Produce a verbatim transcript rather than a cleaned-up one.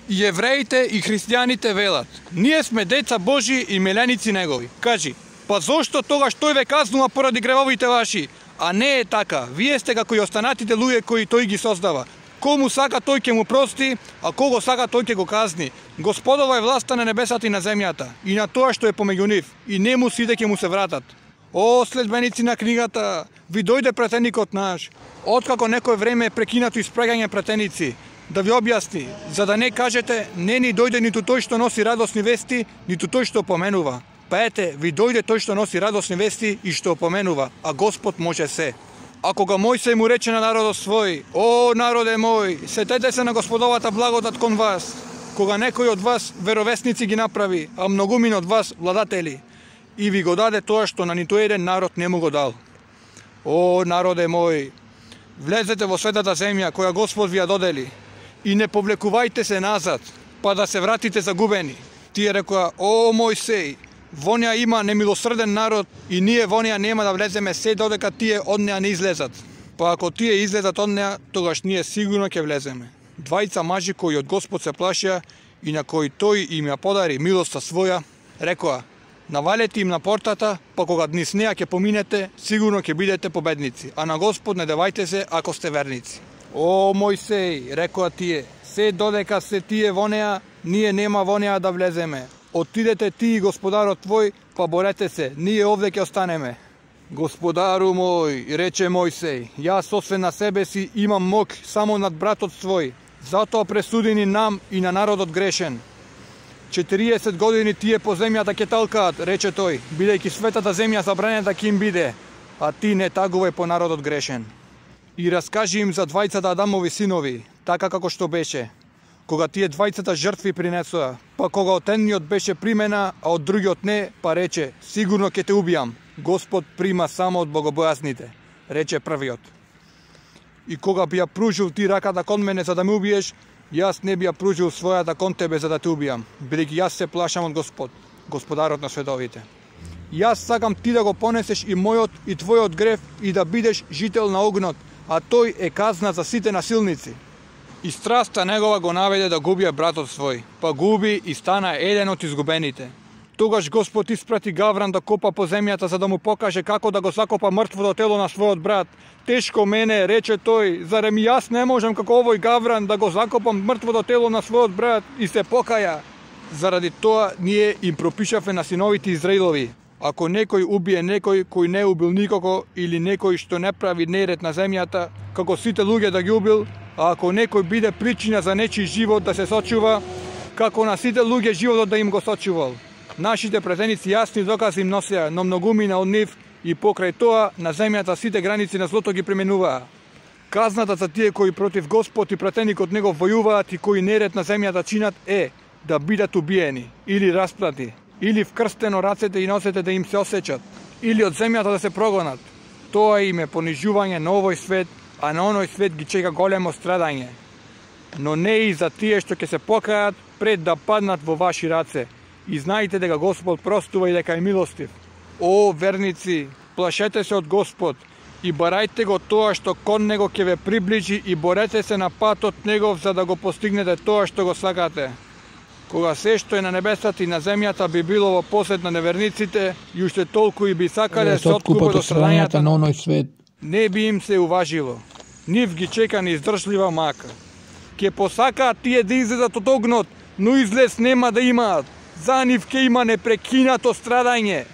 И евреите и христијаните велат: ние сме деца Божи и миленици негови. Кажи, па зошто тогаш тој ве казнува поради гревовите ваши? А не е така. Вие сте како и останатите луѓе кои тој ги создава. Кому сака тој ќе му прости, а кого сака тој ќе го казни. Господова е власта на небесата и на земјата, и на тоа што е помеѓу нив, и нему сите ќе му се вратат. О, следбеници на книгата, ви дојде претеникот наш. Откако некој време е прекинато испрагање претеници, да ви објасни, за да не кажете, не ни дојде ниту тој што носи радосни вести, ниту тој што поменува. Па ете, ви дојде тој што носи радосни вести и што поменува, а Господ може се. А кога Мојсей му рече на народот свој: о, народе мој, сетете се на Господовата благодат кон вас, кога некој од вас веровесници ги направи, а многумина од вас владатели, и ви го даде тоа што на ниту еден народ не му го дал. О, народе мој, влезете во светата земја која Господ ви ја додели, и не повлекувајте се назад, па да се вратите загубени. Тие рекоа: о, Мојсей, во неа има немилосрден народ и ние во неа нема да влеземе се додека тие од неа не излезат. Па ако тие излезат од неа, тогаш ние сигурно ќе влеземе. Двајца мажи кои од Господ се плашија и на кои тој им ја подари милоста своја, рекоа: навалете им на портата, па кога низ неа ќе поминете, сигурно ќе бидете победници, а на Господ не девајте се ако сте верници. О, Мојсей, рекоа тие, се додека се тие во неа, ние нема во неа да влеземе. Отидете ти и господарот твој, па борете се, ние овде ќе останеме. Господару мој, рече Мојсей, јас освен на себе си имам мок само над братот свој, затоа пресуди ни нам и на народот грешен. четириесет години тие по земјата ќе талкаат, рече тој, бидејќи светата земја забранета ќе им биде, а ти не тагувај по народот грешен. И раскажи им за двајцата Адамови синови, така како што беше, кога тие двајцата жртви принесоа, па кога од едниот беше примена, а од другиот не, па рече: сигурно ќе те убијам. Господ прима само од богобојазните, рече првиот. И кога би ја пружил ти раката кон мене за да ме убиеш, јас не би ја пружил својата кон тебе за да те убијам, бидејќи јас се плашам од Господ, Господарот на световите. Јас сакам ти да го понесеш и мојот и твојот грев и да бидеш жител на огнот, а тој е казна за сите насилници. И страста негова го наведе да губија братот свој, па губи и стана еден од изгубените. Тогаш Господ испрати гавран да копа по земјата за да му покаже како да го закопа мртвото тело на својот брат. Тешко мене, рече тој, зарем јас не можам како овој гавран да го закопам мртвото тело на својот брат, и се покаја. Заради тоа ние им пропишавме на синовите Израилови: ако некој убие некој кој не убил никого, или некој што не прави неред на земјата, како сите луѓе да ги убил, а ако некој биде причина за нечи живот да се сочува, како на сите луѓе животот да им го сочувал. Нашите претеници јасни докази им носеа, но многумина од нив, и покрај тоа на земјата сите граници на злото ги пременуваа. Казната за тие кои против Господ и претеникот него војуваат и кои неред на земјата чинат е да бидат убиени, или расплати, или вкрстено рацете и носете да им се осечат, или од земјата да се прогонат. Тоа им е понижување на овој свет, а на оној свет ги чека големо страдање. Но не и за тие што ќе се покајат пред да паднат во ваши раце. И знаете дека Господ простува и дека е милостив. О, верници, плашете се од Господ и барајте го тоа што кон него ќе ве приближи и борете се на патот негов за да го постигнете тоа што го сакате. Кога се што е на небесата и на земјата би било во посед на неверниците и уште толку и би сакале се откупат од страдањата на оној свет, не би им сеуважило. Нив ги чека неиздржлива мака. Ке посакаат тие да излезат од огнот, но излез нема да имаат. За нив ке има непрекинато страдање,